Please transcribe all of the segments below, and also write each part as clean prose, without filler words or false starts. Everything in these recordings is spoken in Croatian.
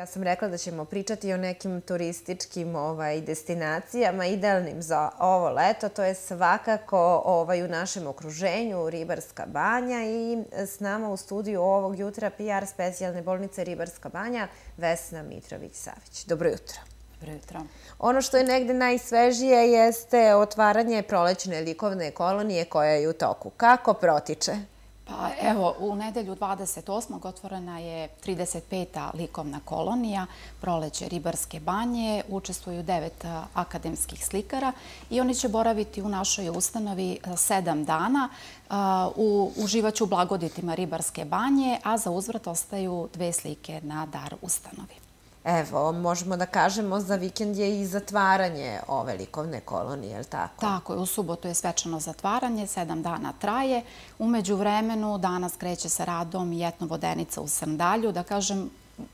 Ja sam rekla da ćemo pričati o nekim turističkim destinacijama idealnim za ovo leto. To je svakako u našem okruženju Ribarska banja i s nama u studiju ovog jutra PR specijalne bolnice Ribarska banja Vesna Mitrović-Savić. Dobro jutro. Dobro jutro. Ono što je negde najsvežije jeste otvaranje prolećne likovne kolonije koja je u toku. Kako protiče? Pa evo, u nedelju 28. otvorena je 35. likovna kolonija Proleće Ribarske banje. Učestvuju 9 akademskih slikara i oni će boraviti u našoj ustanovi 7 dana. Uživaće u blagoditima Ribarske banje, a za uzvrat ostaju 2 slike na dar ustanovi. Evo, možemo da kažemo za vikend je i zatvaranje ove likovne kolonije, je li tako? Tako je, u subotu je svečano zatvaranje, 7 dana traje. U međuvremenu danas kreće sa radom i etnovodenica u Srndalju. Da kažem,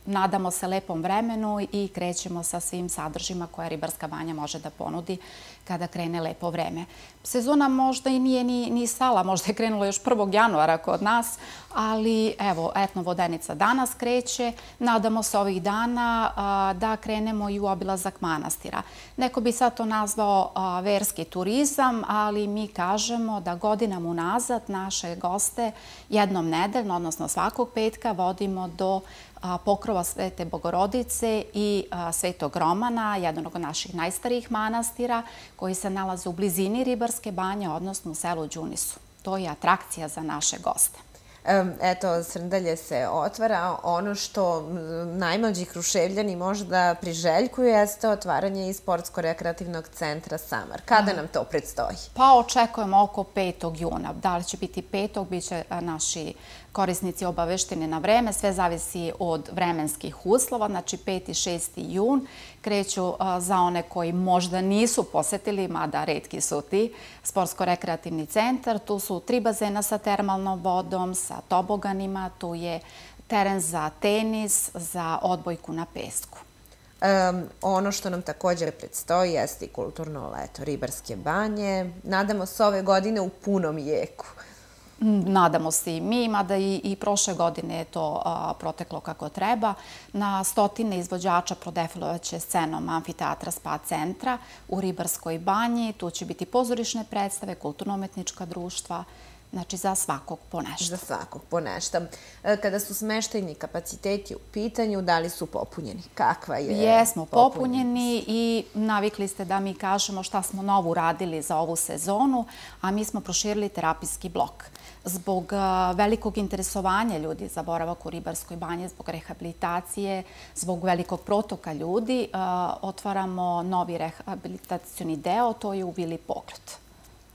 nadamo se lepom vremenu i krećemo sa svim sadržima koje Ribarska banja može da ponudi kada krene lepo vreme. Sezona možda i nije ni stala, možda je krenula još 1. januara kod nas, ali evo, etnovodenica danas kreće. Nadamo se ovih dana da krenemo i u obilazak manastira. Neko bi sad to nazvao verski turizam, ali mi kažemo da godinama unazad naše goste jednom nedeljno, odnosno svakog petka, vodimo do pokrova Svete Bogorodice i Svetog Romana, jednog od naših najstarijih manastira, koji se nalaze u blizini Ribarske banje, odnosno u selu Đunisu. To je atrakcija za naše goste. Eto, Srndalje se otvara. Ono što najmlađi Kruševljani možda priželjkuju jeste otvaranje i sportsko-rekreativnog centra Samar. Kada nam to predstoji? Pa očekujemo oko 5. juna. Da li će biti 5. bit će naši korisnici obavešteni na vreme. Sve zavisi od vremenskih uslova. Znači 5. i 6. jun kreću za one koji možda nisu posetili, mada retki su ti, sportsko-rekreativni centar. Tu su 3 bazena sa termalnom vodom, sa toboganima. Tu je teren za tenis, za odbojku na pesku. Ono što nam također predstoji jeste i kulturno leto Ribarske banje. Nadamo se ove godine u punom jeku. Nadamo se i mi, mada i prošle godine je to proteklo kako treba. Na stotine izvođača prodefilovaće scenom amfiteatra Spa centra u Ribarskoj banji. Tu će biti pozorišne predstave, kulturno-umetnička društva, znači za svakog po nešto. Za svakog po nešto. Kada su smeštajni kapaciteti u pitanju, da li su popunjeni? Kakva je Jesmo popunjeni i navikli ste da mi kažemo šta smo novo uradili za ovu sezonu, a mi smo proširili terapijski blok. Zbog velikog interesovanja ljudi za boravak u Ribarskoj banji, zbog rehabilitacije, zbog velikog protoka ljudi, otvaramo novi rehabilitacioni deo, to je u Vili Pogled.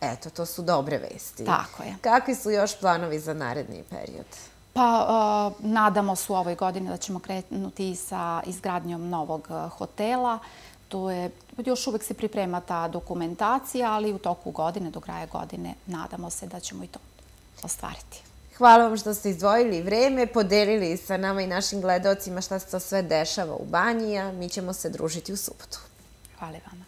Eto, to su dobre vesti. Tako je. Kakvi su još planovi za naredni period? Pa, nadamo se u ovoj godini da ćemo krenuti sa izgradnjom novog hotela. Još uvek se priprema ta dokumentacija, ali u toku godine, do kraja godine, nadamo se da ćemo i to ostvariti. Hvala vam što ste izdvojili vreme, podelili sa nama i našim gledalcima šta se to sve dešava u banji, a mi ćemo se družiti u subotu. Hvala vama.